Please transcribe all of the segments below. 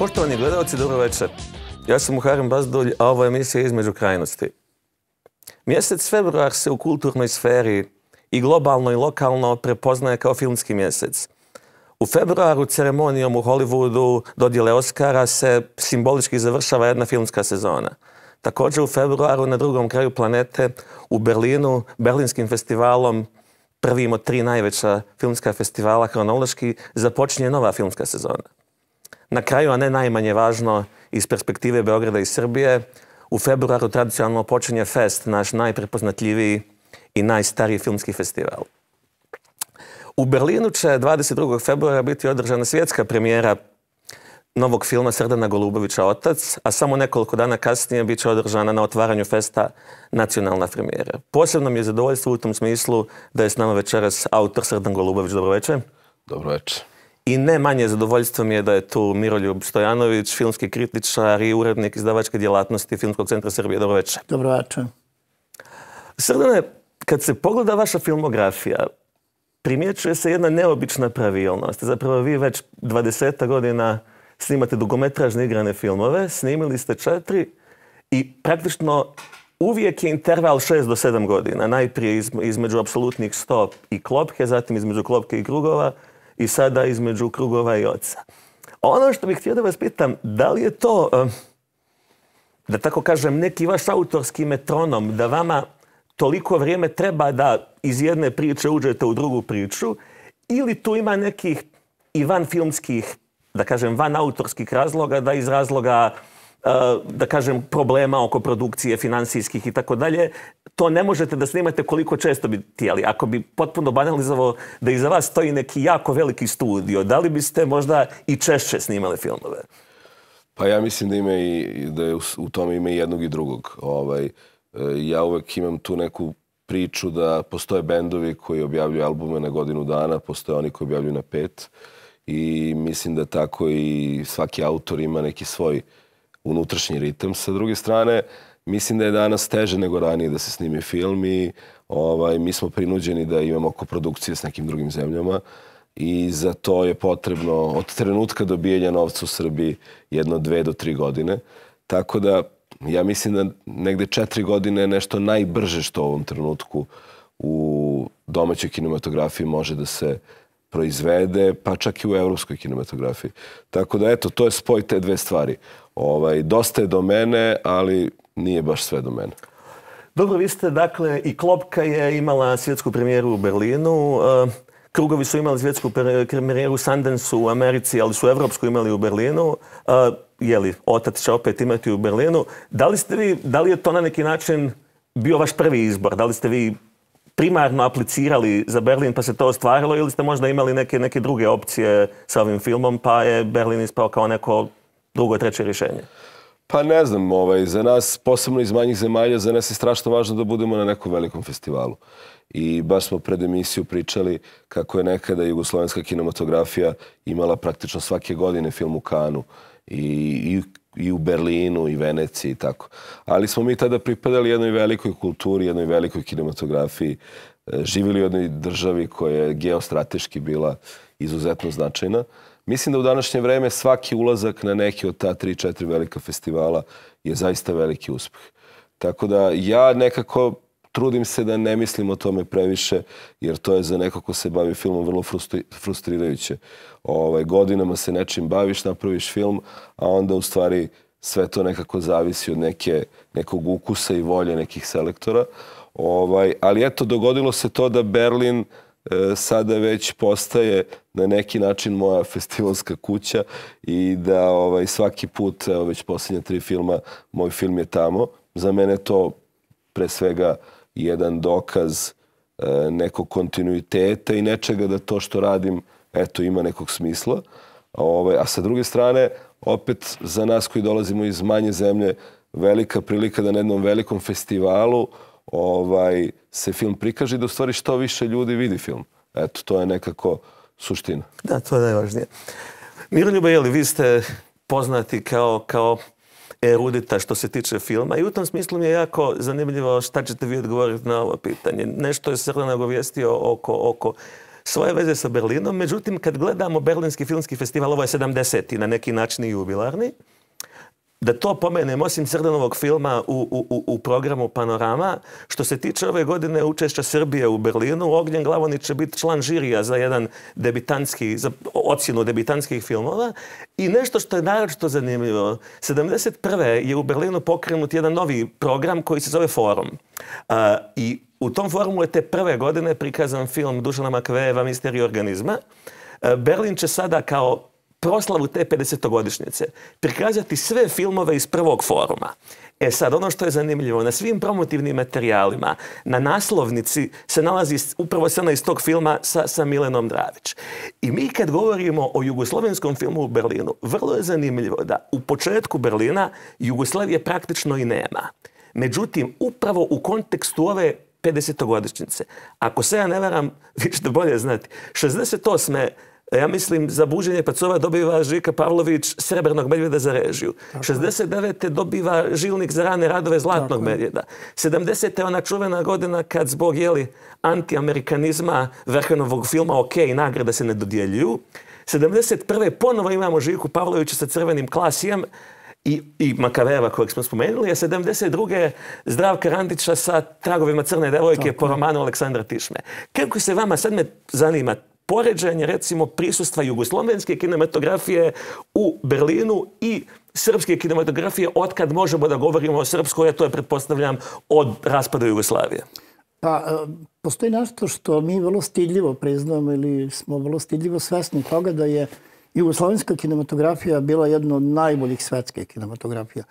Poštovani gledalci, dobro večer. Ja sam Muharrem Bazdulj, a ovo je emisija Između krajnosti. Mjesec februar se u kulturnoj sferi i globalno i lokalno prepoznaje kao filmski mjesec. U februaru ceremonijom u Hollywoodu dodjele Oscara se simbolički završava jedna filmska sezona. Također u februaru na drugom kraju planete u Berlinu, Berlinskim festivalom, prvim od 3 najveća filmska festivala hronološki, započinje nova filmska sezona. Na kraju, a ne najmanje važno, iz perspektive Beograda i Srbije, u februaru tradicionalno počinje Fest, naš najprepoznatljiviji i najstariji filmski festival. U Berlinu će 22. februara biti održana svjetska premijera novog filma Srdana Golubovića Otac, a samo nekoliko dana kasnije bit će održana na otvaranju festa nacionalna premijera. Posebno mi je zadovoljstvo u tom smislu da je s nama večeras autor Srdan Golubović. Dobro večer. Dobro večer. I ne manje zadovoljstvo mi je da je tu Miroljub Stojanović, filmski kritičar i urednik izdavačke djelatnosti Filmskog centra Srbije. Dobro večer. Dobro večer. Srdane, kad se pogleda vaša filmografija, primjećuje se jedna neobična pravilnost. Zapravo vi već 20 godina snimate dugometražne igrane filmove, snimili ste 4 i praktično uvijek je interval 6 do 7 godina. Najprije između apsolutnih 100 i Klopke, zatim između Klopke i Krugova i sada između Krugova i Oca. Ono što bih htio da vas pitam, da li je to, da tako kažem, neki vaš autorski metronom, da vama toliko vrijeme treba da iz jedne priče uđete u drugu priču, ili tu ima nekih i van filmskih, da kažem, van autorskih razloga, da iz razloga, da kažem, problema oko produkcije, finansijskih i tako dalje, to ne možete da snimate koliko često bi htjeli. Ako bi potpuno banalizovao da iza vas stoji neki jako veliki studio, da li biste možda i češće snimali filmove? Pa ja mislim da je u tome ima i jednog i drugog. Ja uvek imam tu neku priču da postoje bendovi koji objavljuju albume na godinu dana, postoje oni koji objavljuju na 5. I mislim da tako i svaki autor ima neki svoj unutrašnji ritam. Sa druge strane, mislim da je danas teže nego ranije da se snimi film i mi smo prinuđeni da imamo koprodukcije s nekim drugim zemljama i za to je potrebno od trenutka dobijanja novca u Srbiji 1, 2 do 3 godine. Tako da ja mislim da negde 4 godine je nešto najbrže što u ovom trenutku u domaćoj kinematografiji može da se proizvede, pa čak i u evropskoj kinematografiji. Tako da, eto, to je spoj te dve stvari. Dosta je do mene, ali nije baš sve do mene. Dobro, vi ste, dakle, i Klopka je imala svjetsku premijeru u Berlinu, Krugovi su imali svjetsku premijeru u Sundanceu u Americi, ali su evropsku imali u Berlinu. Otac će opet imati u Berlinu. Da li je to na neki način bio vaš prvi izbor? Da li ste vi primarno aplicirali za Berlin pa se to ostvarilo ili ste možda imali neke druge opcije sa ovim filmom pa je Berlin ispao kao neko drugo, treće rješenje? Pa ne znam, za nas, posebno iz manjih zemalja, za nas je strašno važno da budemo na nekom velikom festivalu. I baš smo pred emisiju pričali kako je nekada jugoslovenska kinematografija imala praktično svake godine film u Kanu i u Berlinu i Veneciji i tako. Ali smo mi tada pripadali jednoj velikoj kulturi, jednoj velikoj kinematografiji, živjeli u jednoj državi koja je geostrateški bila izuzetno značajna. Mislim da u današnje vreme svaki ulazak na neki od ta 3-4 velika festivala je zaista veliki uspeh. Tako da ja nekako trudim se da ne mislim o tome previše, jer to je za neko ko se bavi filmom vrlo frustrirajuće. Godinama se nečim baviš, napraviš film, a onda u stvari sve to nekako zavisi od nekog ukusa i volje nekih selektora. Ali eto, dogodilo se to da Berlin sada već postaje na neki način moja festivalska kuća i da svaki put, već posljednja 3 filma, moj film je tamo. Za mene to pre svega jedan dokaz nekog kontinuiteta i nečega da to što radim, eto, ima nekog smisla. A sa druge strane, opet za nas koji dolazimo iz manje zemlje, velika prilika da na jednom velikom festivalu se film prikaže i da u stvari što više ljudi vidi film. Eto, to je nekako suština. Da, to je najvažnije. Miroljube, vi ste poznati kao erudita što se tiče filma i u tom smislu mi je jako zanimljivo šta ćete vi odgovoriti na ovo pitanje. Nešto je Srdan nagovijestio oko svoje veze sa Berlinom. Međutim, kad gledamo Berlinski filmski festival, ovo je 70. na neki način i jubilarni, da to pomenem, osim Srdanovog filma u programu Panorama, što se tiče ove godine učešća Srbije u Berlinu, Ognjen Glavonić će biti član žirija za jedan za ocjenu debitanskih filmova. I nešto što je naročito zanimljivo, 71. je u Berlinu pokrenut jedan novi program koji se zove Forum. I u tom forumu je te prve godine prikazan film Dušana Makvejeva Misterij organizma. Berlin će sada kao proslavu te 50-godišnjice prikazati sve filmove iz prvog foruma. Sad, ono što je zanimljivo, na svim promotivnim materijalima, na naslovnici se nalazi upravo scena iz tog filma sa Milenom Dravić. I mi kad govorimo o jugoslovenskom filmu u Berlinu, vrlo je zanimljivo da u početku Berlina Jugoslavije praktično i nema. Međutim, upravo u kontekstu ove 50-godišnjice, ako se ja ne varam, vi ćete bolje znati, 68. ja mislim, za Buđenje pacova dobiva Žika Pavlović Srebrnog medvjeda za režiju. 69. dobiva Žilnik za rane radove Zlatnog medvjeda. 70. je ona čuvena godina kad zbog antiamerikanizma Vrhanovog filma OK, nagrada se ne dodjeljuju. 71. ponovo imamo Žiku Pavlovića sa Crvenim klasijem i Makavejeva kojeg smo spomenuli, a 72. Zdravka Randića sa Tragovima crne devojke po romanu Aleksandra Tišme. Kako se vama, sad me zanima, poređenje, recimo, prisustva jugoslovenske kinematografije u Berlinu i srpske kinematografije otkad možemo da govorimo o srpskoj, a to je, pretpostavljam, od raspada Jugoslavije? Pa, postoji nešto što mi vrlo stidljivo priznamo ili smo vrlo stidljivo svesni toga da je jugoslovenska kinematografija bila jedna od najboljih svetskih kinematografija.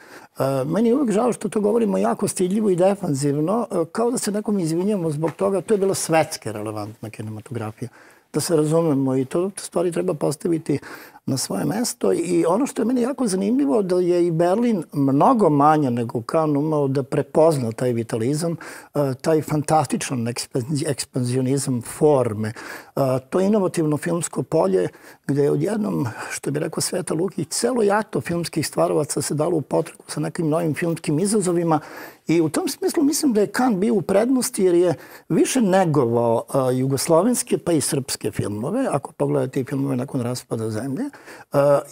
Meni je uvijek žao što to govorimo jako stidljivo i defanzivno, kao da se nekom izvinjamo zbog toga. To je bila svetske relevantna kinematografija. Da se razumemo i to stvari treba postaviti na svoje mesto. I ono što je meni jako zanimljivo da je i Berlin mnogo manje nego Cannes umao da prepozna taj vitalizam, taj fantastičan ekspanzionizam forme, to inovativno filmsko polje gde je odjednom, što bi rekao Sveta Lukić, celo jato filmskih stvarovaca se dalo u potrebu sa nekim novim filmskim izazovima. I u tom smislu mislim da je Cannes bio u prednosti jer je više negovao jugoslovenske pa i srpske filmove, ako pogledate i filmove nakon raspada zemlje,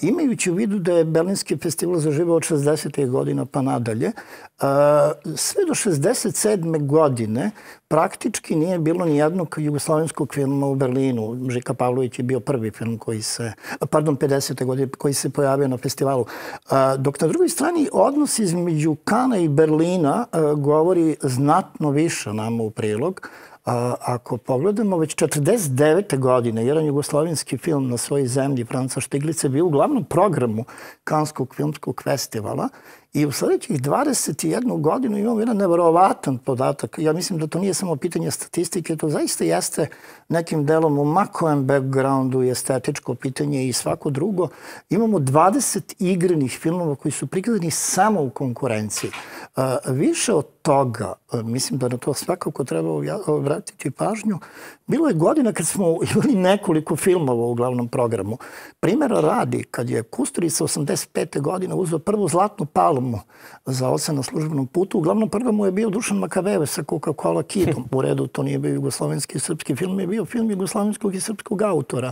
imajući u vidu da je Berlinski festival zaživao od 60. godina pa nadalje. Sve do 67. godine praktički nije bilo ni jednog jugoslovenskog filma u Berlinu. Žika Pavlović je bio prvi film koji se, 50. godine koji se pojavio na festivalu. Dok na drugoj strani odnos između Kana i Berlina govori znatno više nama u prilog. Ako pogledamo, već 49. godine jedan jugoslovenski film na svojoj zemlji, Franca Štiglica, je bio u glavnom programu Kanskog filmskog festivala i u sljedećih 21 godinu imamo jedan neverovatan podatak. Ja mislim da to nije samo pitanje statistike, to zaista jeste nekim delom u makojem backgroundu i estetičko pitanje i svako drugo. Imamo 20 igrenih filmova koji su prikazani samo u konkurenciji. Više od toga, mislim da na to svakako treba vratiti pažnju, bilo je godina kad smo imali nekoliko filmova u glavnom programu. Primjera radi, kad je Kusturica 85. godine uzeo prvu Zlatnu palmu za ocen na službenom putu, u glavnom programu je bio Dušan Makavejev sa Coca-Cola Kidom. U redu, to nije bio jugoslovenski i srpski film, je bio film jugoslovenskog i srpskog autora.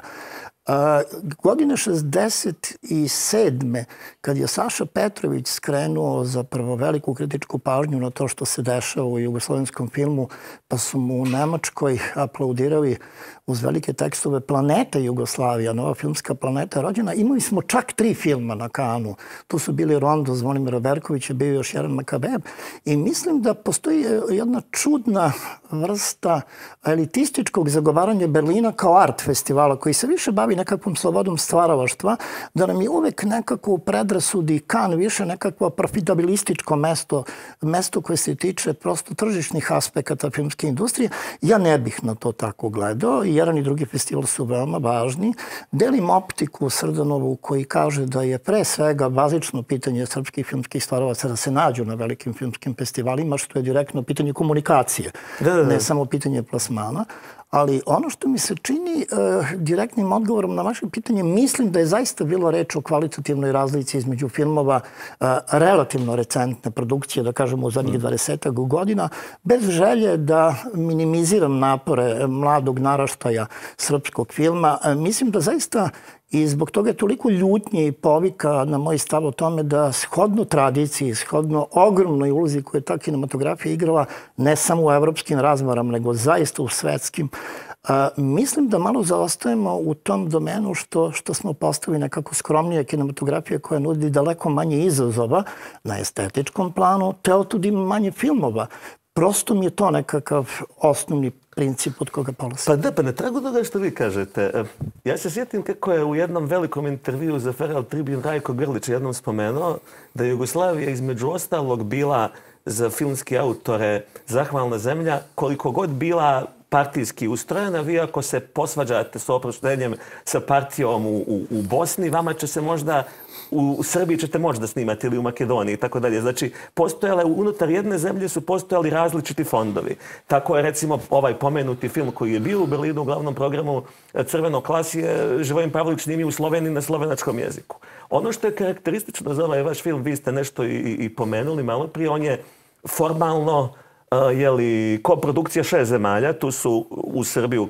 Godine 67. kad je Saša Petrović skrenuo zapravo veliku kritičku pažnju na to što se dešava u jugoslovenskom filmu, pa su mu u Nemačkoj aplaudirali uz velike tekstove Planeta Jugoslavija, nova filmska planeta rođena. Imali smo čak 3 filma na Cannesu. Tu su bili Rondo Zvonimira Berkovića, bio još jedan Makavejev. I mislim da postoji jedna čudna vrsta elitističkog zagovaranja Berlina kao art festivala koji se više bavi nekakvom slobodom stvaralaštva, da nam je uvek nekako u predrasudi Cannes više nekakvo profitabilističko mesto koje se tiče prosto tržišnih aspekata filmske industrije. Ja ne bih na to tako gledao. Jedan i drugi festival su veoma važni. Delim optiku Srdanovu koji kaže da je pre svega bazično pitanje srpskih filmskih stvarovaca da se nađu na velikim filmskim festivalima, što je direktno pitanje komunikacije, ne samo pitanje plasmana. Ali ono što mi se čini direktnim odgovorom na vaše pitanje, mislim da je zaista bilo reč o kvalitativnoj razlici između filmova relativno recentne produkcije, da kažemo u zadnjih 20 godina, bez želje da minimiziram napore mladog naraštaja srpskog filma. Mislim da zaista i zbog toga je toliko ljutnje i povika na moj stav o tome da shodno tradiciji, shodno ogromnoj ulozi koju je ta kinematografija igrala ne samo u evropskim razmarama, nego zaista u svetskim, mislim da malo zaostajemo u tom domenu što smo postali nekako skromnije kinematografije koja nudi daleko manje izazova na estetičkom planu, te otud ima manje filmova. Prosto mi je to nekakav osnovni princip od koga polazi. Pa da, pa na tragu toga što vi kažete. Ja se sjetim kako je u jednom velikom intervju za Feral Tribune Rajko Grlić jednom spomenuo da je Jugoslavija između ostalog bila za filmske autore zahvalna zemlja koliko god bila partijski ustrojena. Vi ako se posvađate s oproštenjem sa partijom u Bosni, vama će se možda u Srbiji ćete moći da snimate ili u Makedoniji i tako dalje. Znači, postojale unutar jedne zemlje su postojali različiti fondovi. Tako je recimo ovaj pomenuti film koji je bio u Berlinu u glavnom programu Crveno klas je Živojin Pavlović snimio u Sloveniji na slovenačkom jeziku. Ono što je karakteristično za ovaj vaš film, vi ste nešto i pomenuli malo prije, on je formalno koprodukcija 6 zemalja, tu su u Srbiju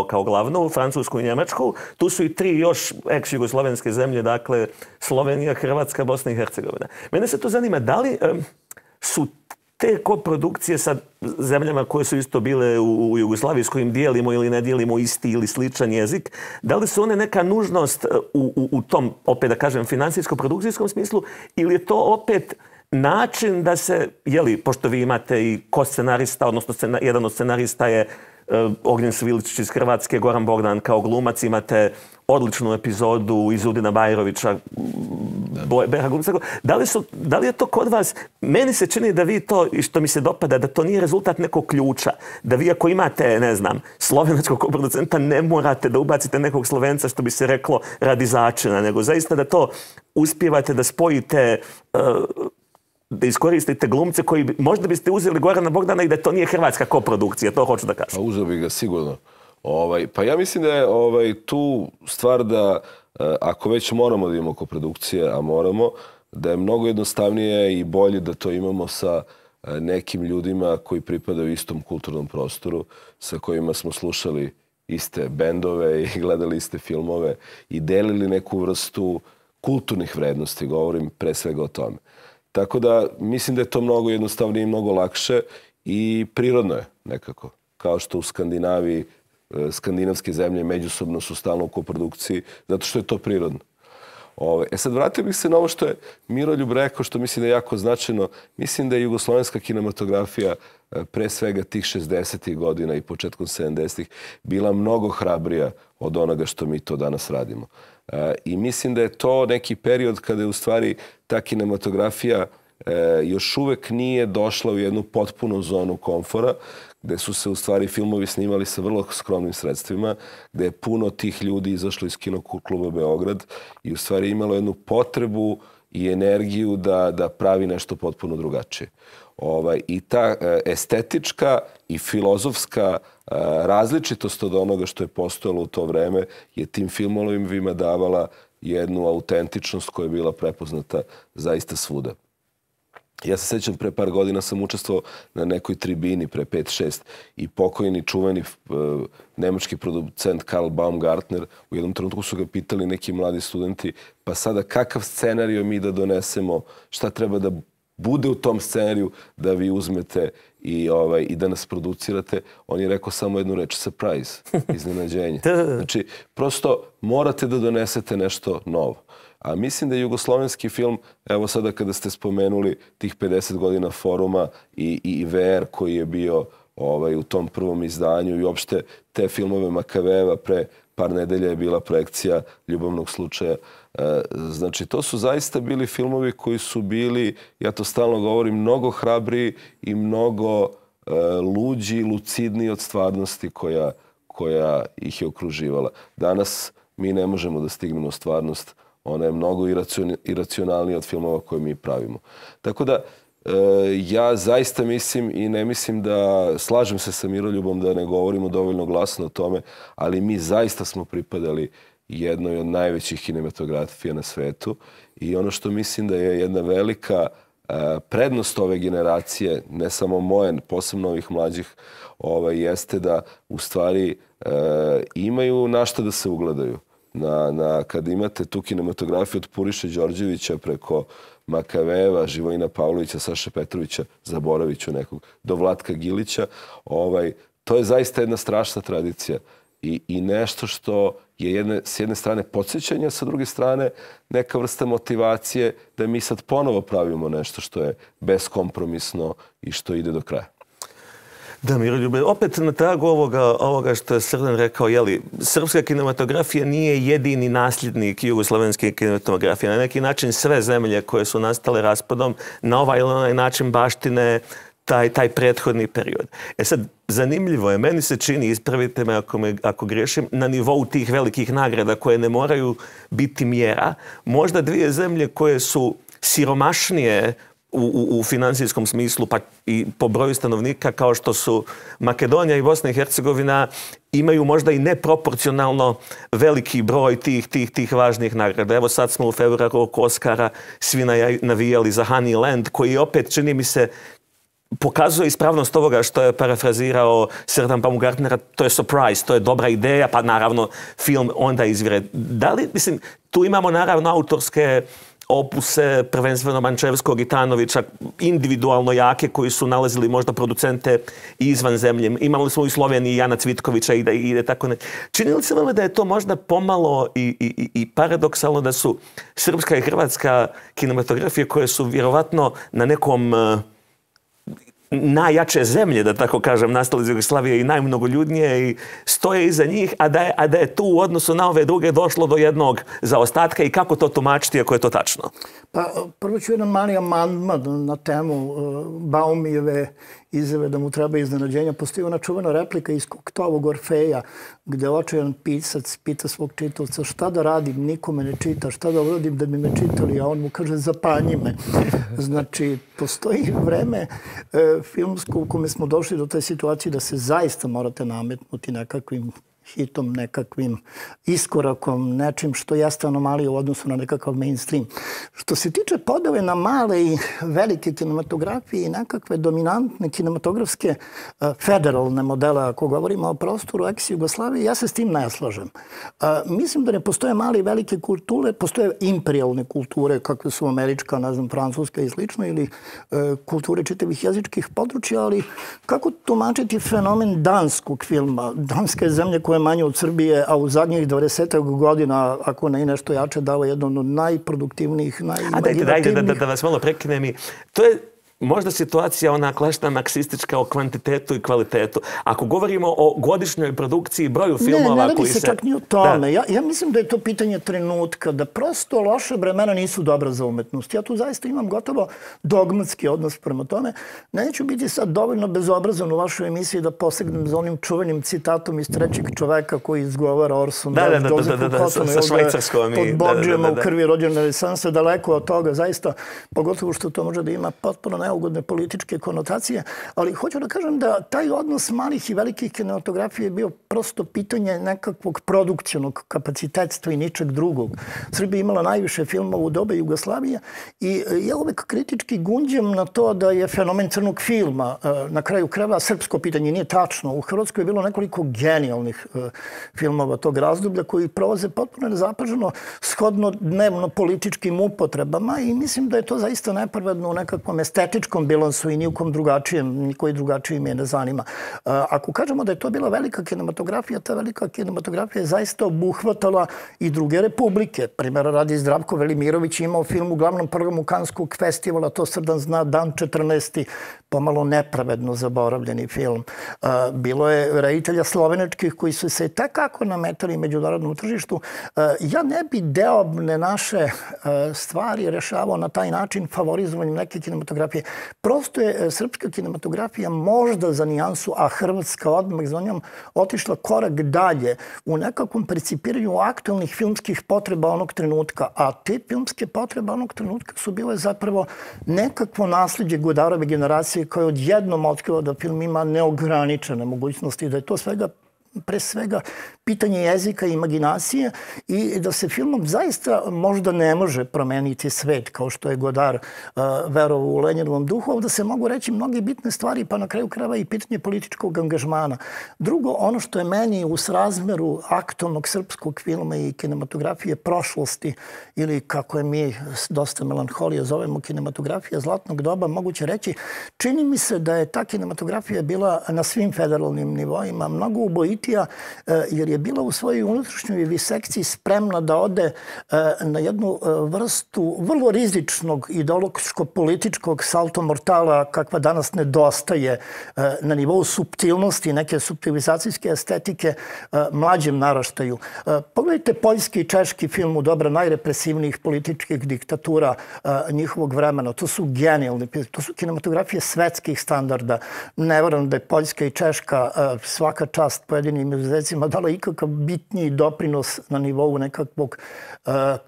kao glavnu, Francusku i Njemačku, tu su i 3 još ex-jugoslovenske zemlje, dakle Slovenija, Hrvatska, Bosna i Hercegovina. Mene se to zanima, da li su te koprodukcije sa zemljama koje su isto bile u Jugoslaviji s kojim dijelimo ili ne dijelimo isti ili sličan jezik, da li su one neka nužnost u tom, opet da kažem, financijsko-produkcijskom smislu ili je to opet način da se, pošto vi imate i ko-scenarista, odnosno jedan od scenarista je Ognjen Sviličić iz Hrvatske, Goran Bogdan kao glumac, imate odličnu epizodu iz Udina Bajrovića, Beha glumca. Da li je to kod vas? Meni se čini da vi to, i što mi se dopada, da to nije rezultat nekog ključa. Da vi ako imate, ne znam, slovenačkog producenta, ne morate da ubacite nekog Slovenca, što bi se reklo, radi začina, nego zaista da to uspijevate da spojite, da iskoristite glumce koji možda biste uzeli Gorana Bogdana i da to nije hrvatska koprodukcija, to hoću da kažem. Pa uzeo bi ga sigurno. Pa ja mislim da je tu stvar da ako već moramo da imamo koprodukcije, a moramo, da je mnogo jednostavnije i bolje da to imamo sa nekim ljudima koji pripadaju istom kulturnom prostoru, sa kojima smo slušali iste bendove i gledali iste filmove i delili neku vrstu kulturnih vrednosti, govorim pre svega o tome. Tako da mislim da je to mnogo jednostavnije i mnogo lakše i prirodno je nekako. Kao što u Skandinaviji, skandinavske zemlje međusobno su stalno u koprodukciji, zato što je to prirodno. Sad vratio bih se na ovo što je Miroljub rekao, što mislim da je jako značajno. Mislim da je jugoslovenska kinematografija pre svega tih 60. godina i početkom 70. bila mnogo hrabrija od onoga što mi to danas radimo. I mislim da je to neki period kada je u stvari ta kinematografija još uvek nije došla u jednu potpunu zonu komfora, gde su se u stvari filmovi snimali sa vrlo skromnim sredstvima, gde je puno tih ljudi izašlo iz Kinokluba Beograd i u stvari imalo jednu potrebu i energiju da pravi nešto potpuno drugačije. I ta estetička i filozofska različitost od onoga što je postojalo u to vreme je tim filmovima davala jednu autentičnost koja je bila prepoznata zaista svuda. Ja se sećam, pre par godina sam učestvovao na nekoj tribini, pre 5-6, i pokojni čuveni nemački producent Karl Baumgartner, u jednom trenutku su ga pitali neki mladi studenti, pa sada kakav scenarij mi da donesemo, šta treba da bude u tom scenariju da vi uzmete i da nas producirate. On je rekao samo jednu reč, surprise, iznenađenje. Znači, prosto morate da donesete nešto novo. A mislim da je jugoslovenski film, evo sada kada ste spomenuli tih 50 godina Foruma i VR koji je bio u tom prvom izdanju i uopšte te filmove Makaveva, pre par nedelja je bila projekcija Ljubavnog slučaja. Znači, to su zaista bili filmovi koji su bili, ja to stalno govorim, mnogo hrabriji i mnogo luđi, lucidniji od stvarnosti koja ih je okruživala. Danas mi ne možemo da stignemo stvarnost. Ona je mnogo iracionalnija od filmova koje mi pravimo. Tako da, Ja zaista mislim i ne mislim da, slažem se sa Miroljubom da ne govorimo dovoljno glasno o tome, ali mi zaista smo pripadali jednoj od najvećih kinematografija na svetu i ono što mislim da je jedna velika prednost ove generacije, ne samo moje, posebno ovih mlađih, jeste da u stvari imaju na šta da se ugledaju. Kad imate tu kinematografiju od Puriše Đorđevića preko Makaveva, Živojina Pavlovića, Saše Petrovića, zaboravit ću nekog, do Vlatka Gilića, to je zaista jedna strašna tradicija i nešto što je s jedne strane podsjećanje, sa druge strane neka vrsta motivacije da mi sad ponovo pravimo nešto što je beskompromisno i što ide do kraja. Da, Miroljube, opet na tragu ovoga što je Srdan rekao, srpska kinematografija nije jedini nasljednik jugoslovenske kinematografije. Na neki način sve zemlje koje su nastale raspadom na ovaj ili onaj način baštine taj prethodni period. Sad, zanimljivo je, meni se čini, ispravite me ako griješim, na nivou tih velikih nagrada koje ne moraju biti mjera, možda dvije zemlje koje su siromašnije u finansijskom smislu, pa i po broju stanovnika, kao što su Makedonija i Bosna i Hercegovina, imaju možda i neproporcionalno veliki broj tih važnih nagrada. Evo sad smo u februaru oko Oscara svi navijali za Honeyland, koji opet, čini mi se, pokazuje ispravnost ovoga što je parafrazirao Srdan Baumgartnera. To je surprise, to je dobra ideja, pa naravno film onda izvire. Da li, mislim, tu imamo naravno autorske opuse, prvenstveno Mančevskog i Tanovića, individualno jake, koji su nalazili možda producente izvan zemlje. Imali smo u Sloveniji Jana Cvitkovića i ide tako ne. Čini li se vama da je to možda pomalo i paradoksalno da su srpska i hrvatska kinematografije koje su vjerovatno na nekom najjače zemlje, da tako kažem, nastale iz Jugoslavije i najmnogoljudnije i stoje iza njih, a da je tu u odnosu na ove druge došlo do jednog zaostatka i kako to tumačiti ako je to tačno? Pa prvo ću jedan mali amandman na temu Baumijeve izjave da mu treba iznenađenja. Postoji ona čuvena replika iz Koktovog Orfeja gdje očajan pisac pita svog čitavca šta da radim, niko me ne čita, šta da uradim da bi me čitali, a on mu kaže zapanji me. Znači, postoji vreme filmsko u kome smo došli do te situacije da se zaista morate nametnuti nekakvim hitom, nekakvim iskorakom, nečim što jeste anomalija u odnosu na nekakav mainstream. Što se tiče podele na male i velike kinematografije i nekakve dominantne kinematografske federalne modele, ako govorimo o prostoru ex-Jugoslavije, ja se s tim ne slažem. Mislim da ne postoje male i velike kulture, postoje imperialne kulture, kakve su američka, ne znam, francuska i slično, ili kulture čitavih jezičkih područja, ali kako tumačiti fenomen danskog filma? Danska je zemlja koja je manje od Srbije, a u zadnjih 20 godina, ako ne i nešto jače, dao jedno od najproduktivnijih, najimaginativnijih... Dajte da vas malo prekinem. To je možda situacija ona klasična marksistička o kvantitetu i kvalitetu. Ako govorimo o godišnjoj produkciji, broju filmova... Ne radi se čak ni o tome. Ja mislim da je to pitanje trenutka, da prosto loše vremena nisu dobra za umetnost. Ja tu zaista imam gotovo dogmatski odnos prema tome. Neću biti sad dovoljno bezobrazan u vašoj emisiji da posegnem za onim čuvenim citatom iz Trećeg čoveka koji izgovara Orson Welles, sa švajcarskom. Pod Borđijama u krvi rođene renesanse, daleko od toga, zaista, pogotovo što to može da ima potpuno neugodne političke konotacije, ali hoću da kažem da taj odnos malih i velikih kinematografija je bio prosto pitanje nekakvog produkcionog kapacitetstva i ničeg drugog. Srbija imala najviše filmova u dobe Jugoslavije i ja uvek kritički gunđem na to da je fenomen crnog filma na kraju krajeva srpsko pitanje. Nije tačno. U Hrvatskoj je bilo nekoliko genijalnih filmova tog razdoblja koji prolaze potpuno nezapaženo shodno dnevno političkim upotrebama i mislim da je to zaista nepravedno u nekakvom estetičkom bilansu i nijukom drugačijem, nikoji drugačiji me ne zanima. Ako kažemo da je to bila velika kinematografija, ta velika kinematografija je zaista obuhvatala i druge republike. Primjera radi Zdravko Velimirović imao film u glavnom programu Kanskog festivala, to Srdan zna, Dan 14. pomalo nepravedno zaboravljeni film. Bilo je reditelja slovenačkih koji su se takako nametali međunarodnom tržištu. Ja ne bi deobne naše stvari rešavao na taj način favorizovanjem neke kinematografije. Prosto je srpska kinematografija možda za nijansu, a hrvatska odmah za njom otišla korak dalje u nekakvom percipiranju aktualnih filmskih potreba onog trenutka. A te filmske potrebe onog trenutka su bile zapravo nekakvo nasljeđe Godarove generacije koje odjednom otkrilo da film ima neograničene mogućnosti, da je to pre svega pitanje jezika i imaginacije i da se filmom zaista možda ne može promeniti svet kao što je Godard verovao u Lenjinovom duhu, da se mogu reći mnoge bitne stvari, pa na kraju krajeva i pitanje političkog angažmana. Drugo, ono što je meni u srazmeru aktualnog srpskog filma i kinematografije prošlosti ili kako je mi dosta melanholije zovemo kinematografija zlatnog doba, moguće reći, čini mi se da je ta kinematografija bila na svim federalnim nivoima mnogo ubojitija jer je bila u svojoj unutrašnjoj visekciji spremna da ode na jednu vrstu vrlo rizičnog ideološko-političkog salto mortala kakva danas nedostaje na nivou suptilnosti, neke suptilizacijske estetike mlađem naraštaju. Pogledajte poljski i češki film u doba najrepresivnijih političkih diktatura njihovog vremena. To su genijalni, to su kinematografije svetskih standarda. Ne verujem da je Poljska i Češka svaka čast pojedinim izuzecima dala ikakav bitniji doprinos na nivou nekakvog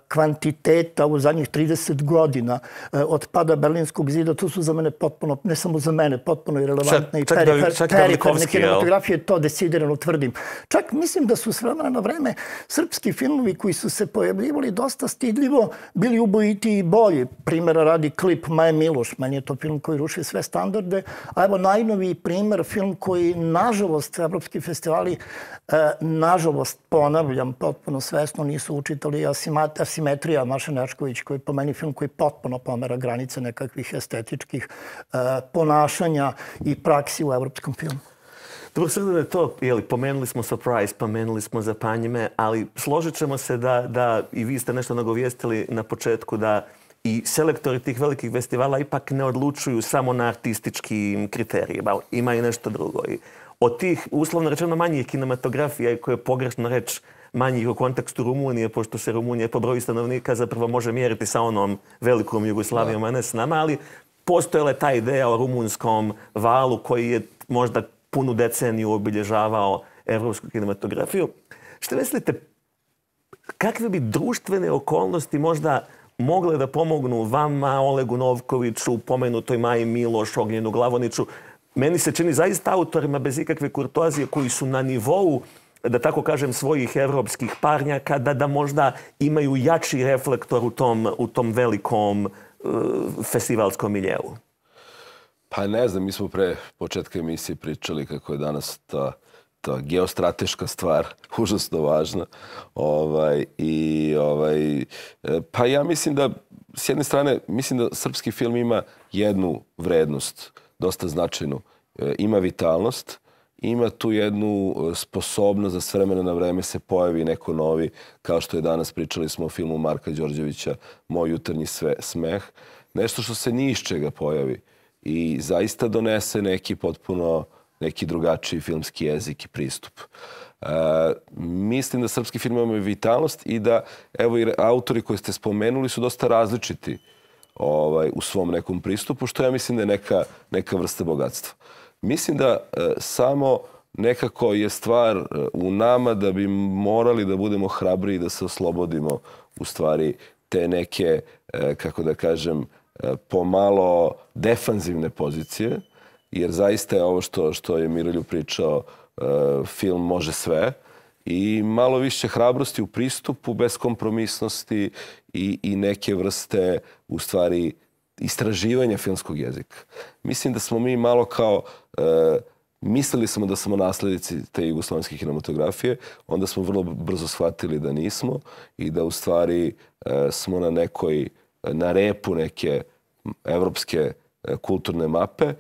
kvantiteta u zadnjih 30 godina od pada Berlinskog zida. To su za mene potpuno, ne samo za mene, potpuno irelevantne i periferne kinematografije, to decidirano tvrdim. Čak mislim da su s vremena na vreme srpski filmovi koji su se pojavljivali dosta stidljivo bili ubojiti i bolji. Primjera radi Klip Maje Miloš. Meni je to film koji ruši sve standarde. A evo najnoviji primjer, film koji nažalost evropski festivali nažalost, ponavljam, potpuno svesno nisu učitali Asimetrija Maše Nečković, koji je po meni film koji potpuno pomera granice nekakvih estetičkih ponašanja i praksi u evropskom filmu. Dobro, sve da je to, pomenuli smo Surprise, pomenuli smo Zapanjime, ali složit ćemo se da i vi ste nešto nagovijestili na početku da i selektori tih velikih festivala ipak ne odlučuju samo na artističkim kriterijima. Ima i nešto drugo. Od tih, uslovno rečeno, manjih kinematografija, koje je pogrešno reći manjih u kontekstu Rumunije, pošto se Rumunija po broju stanovnika zapravo može mjeriti sa onom velikom Jugoslavijom, a ne s nama, ali postojala je ta ideja o rumunskom valu koji je možda punu deceniju obilježavao evropsku kinematografiju. Što mislite, kakve bi društvene okolnosti možda mogle da pomognu vama, Olegu Novkoviću, pomenutoj Maji Miloš, Ognjenu Glavoniću? Meni se čini zaista autorima bez ikakve kurtoazije koji su na nivou, da tako kažem, svojih evropskih parnjaka, da možda imaju jači reflektor u tom velikom festivalskom miljeu. Pa ne znam, mi smo pre početka emisije pričali kako je danas ta geostrateška stvar užasno važna. Pa ja mislim da, s jedne strane, mislim da srpski film ima jednu vrednost, dosta značajnu. Ima vitalnost, ima tu jednu sposobnost da s vremena na vreme se pojavi neko novi, kao što je danas pričali smo o filmu Marka Đorđevića Moj jutarnji smeh. Nešto što se ni iz čega pojavi i zaista donese neki drugačiji filmski jezik i pristup. Mislim da srpski film ima vitalnost i da, evo i autori koje ste spomenuli su dosta različiti u svom nekom pristupu, što ja mislim da je neka vrsta bogatstva. Mislim da samo nekako je stvar u nama da bi morali da budemo hrabri i da se oslobodimo u stvari te neke, kako da kažem, pomalo defanzivne pozicije, jer zaista je ovo što je Miroljub pričao, film može sve i malo više hrabrosti u pristupu, beskompromisnosti i neke vrste, u stvari, istraživanja filmskog jezika. Mislim da smo mi malo kao, mislili smo da smo naslednici te jugoslovenske kinematografije, onda smo vrlo brzo shvatili da nismo i da u stvari smo na repu neke evropske kulturne mape.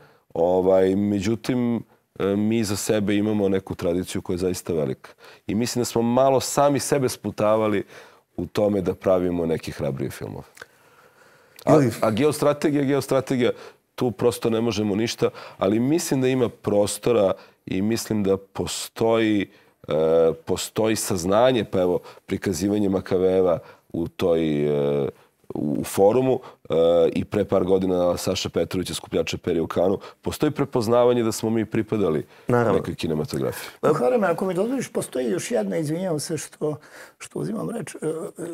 Međutim, mi za sebe imamo neku tradiciju koja je zaista velika. I mislim da smo malo sami sebe sputavali u tome da pravimo neke hrabrije filmove. A geostrategija, tu prosto ne možemo ništa, ali mislim da ima prostora i mislim da postoji saznanje, pa evo, prikazivanje Makaveva u forumu i pre par godina Saša Petrovića, skupljača perja u Kanu, postoji prepoznavanje da smo mi pripadali nekoj kinematografiji. Hareme, ako mi dozvoliš, postoji još jedna, izvinjavam se što uzimam reč,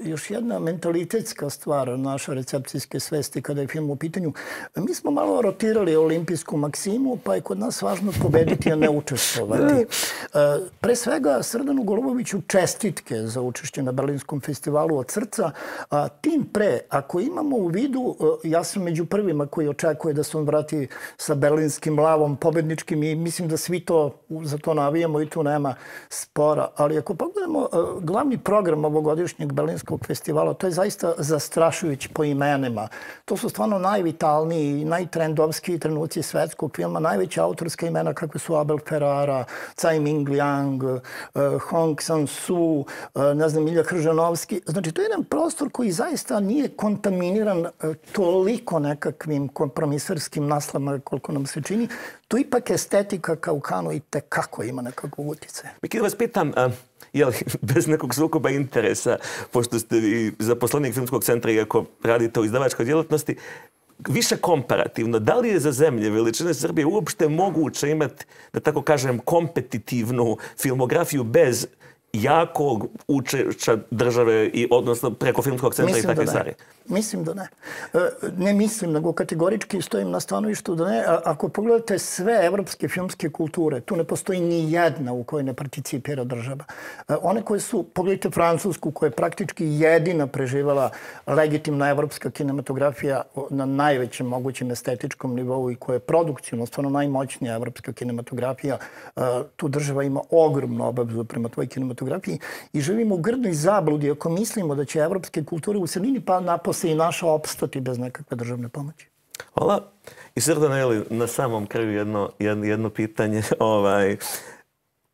još jedna mentalitetska stvar naše recepcijske svesti kada je film u pitanju. Mi smo malo rotirali olimpijsku maksimu, pa je kod nas važno pobediti, a ne učestvovati. Pre svega, Srdanu Goluboviću čestitke za učešće na Berlinskom festivalu od srca. Tim pre, ako imamo u vidu, ja sam među prvima koji očekuje da se on vrati sa berlinskim lavom pobedničkim i mislim da svi za to navijamo i tu nema spora. Ali ako pogledamo glavni program ovogodišnjeg Berlinskog festivala, to je zaista zastrašujući po imenima. To su stvarno najvitalniji i najtrendovskiji trenuci svetskog filma, najveća autorska imena kakve su Abel Ferrara, Tsai Ming Liang, Hong Sang-soo, ne znam, Ilja Hržanovski. Znači, to je jedan prostor koji zaista nije kontaminiran toliko nekakvim kompromisarskim naslama koliko nam se čini. Tu ipak estetika kao u Kanu i tekako ima nekakvog utjecaja. Miki, da vas pitam, bez nekog sukoba interesa, pošto ste i zaposlenik Filmskog centra, iako radite u izdavačkoj djelatnosti, više komparativno, da li je za zemlje veličine Srbije uopšte moguće imati, da tako kažem, kompetitivnu filmografiju bez jakog učešća države, odnosno preko Filmskog centra i takve stvari? Mislim da ne. Ne mislim, nego kategorički stojim na stanovištu da ne. Ako pogledate sve evropske filmske kulture, tu ne postoji ni jedna u kojoj ne participira država. One koje su, pogledajte Francusku, koja je praktički jedina preživala legitimna evropska kinematografija na najvećem mogućem estetičkom nivou i koja je produkcijno stvarno najmoćnija evropska kinematografija, tu država ima ogromnu obavezu prema tvojoj kinematografiji i živimo u grdnoj zabludi ako mislimo da će evropske kulture u celini pa napose i naša opstati bez nekakve državne pomoći. Hvala. I Srdana, na samom kraju jedno pitanje,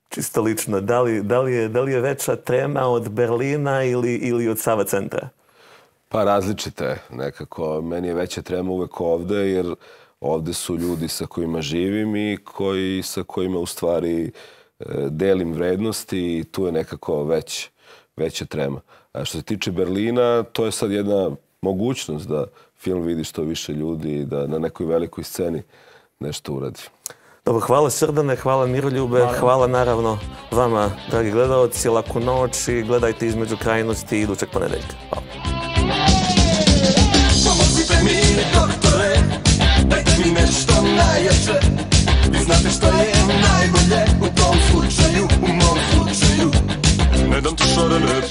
čisto lično. Da li je veća trema od Berlina ili od Sava centra? Pa različite je nekako. Meni je veća trema uvek ovde, jer ovde su ljudi sa kojima živim i sa kojima u stvari delim vrednosti i tu je nekako veća trema. A što se tiče Berlina, to je sad jedna mogućnost da film vidi što više ljudi i da na nekoj velikoj sceni nešto uradi. Dobro, hvala Srdane, hvala Miroljube, hvala naravno vama, dragi gledalci, laku noć i gledajte Između krajnosti idućeg ponedeljka. Hvala. Pomozite mi, doktore, dajte mi nešto najjače. Vi znate što je najbolje u tom slučaju, u mom slučaju. Ne dam ti šarene,